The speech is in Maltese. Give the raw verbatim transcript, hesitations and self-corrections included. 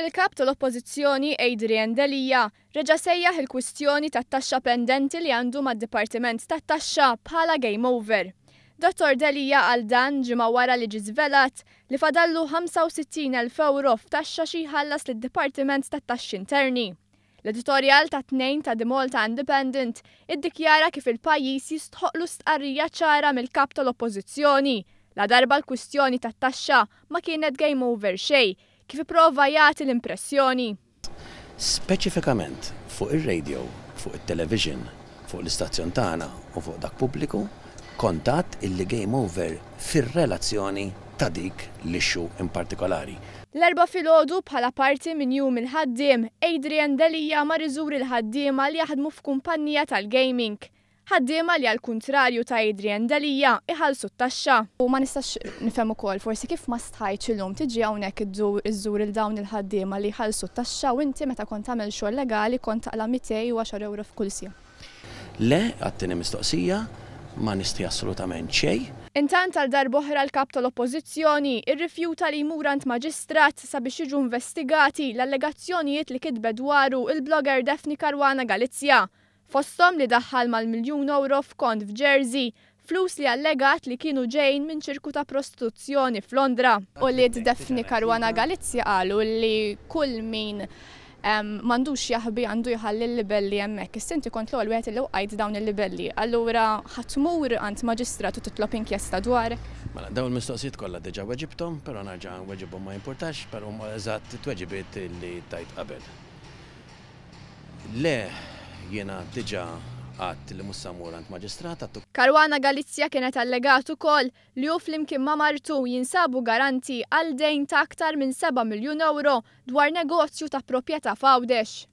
Il-kap tal-Oppożizzjoni Adrian Delia reġa' sejjaħ il-kwistjoni tat-taxxa pendenti li għandu mad-Dipartiment tat-Taxxa bħala game over. Dottor Delia qal dan ġimgħa wara li ġie żvelat li fadallu ħamsa u sittin elf euro f'taxxa xi jħallas lid-Dipartiment tat-Taxxi Interni. L-editorjal ta' tnejn ta' The Malta Independent iddikjara kif il-pajjiż jistħoqlu stqarrija ċara mill-kap tal-Oppożizzjoni la darba l-kwistjoni tat-taxxa ma kienet game over xejn, kif ipprova jagħti l-impressjoni. Speċifikament fuq ir-radio, fuq it-television, fuq l-istazzjon tagħna u fuq dak pubbliku, kontat illi game over fir-relazzjoni ta' dik l-issue in partikolari. L-Erbgħa filgħodu bħala parti minn jum il-ħaddiem, Adrian Delia mar iżur il-ħaddiema li jaħdmu f'kumpanija tal-gaming. Ħaddiema li għal kuntrarju ta' Adrian Delia iħallsu t-taxxa. U ma nistax nifhem ukoll forsi kif ma stħajtx illum tiġi hawnhekk iżżur il dawn il-ħaddiema li jħallsu t-taxxa u inti meta kont tagħmel xogħol legali kont taqla' mitejn u għaxar euro f'kull siegħa. Le, għat-tieni mistoqsija, ma nistħi assolutament xejn. Intant għal darb'oħra l-kap tal-Oppożizzjoni irrifjuta li jmur għand maġistrat sabiex jiġu investigati l-allegazzjonijiet li kitbet dwaru il-blogger Daphne Caruana Galizia. Fosthom li daħħal mal-miljun euro f'kont f'Jersey, flus li allegat li kienu ġejn minn ċirku ta' prostituzzjoni f'Londra. U li Daphne Caruana Galizia qalu li kull min, em, m'għandux jaħbi għandu jħalli l-libelli hemmhekk. Issa inti kont l-ewwel wieħed li wqajt dawn il-libelli. Allura ħa tmur għand maġistrat u titlob inkjesta dwarek? Mela, dawn il-mistoqsijiet kollha diġà weġibthom, però nerġa' weġibhom ma jimpurtax, però huma eżatt it-tweġibiet li tajt qabel. Le, jiena diġà għedt li mhux sa mmur għand maġistrat, għattu Caruana Galizia kienet allegat ukoll li hu flimkien ma' martu jinsabu garanti għal dejn ta' aktar minn seba' miljun euro dwar negozju ta' proprjetà f'Għawdex.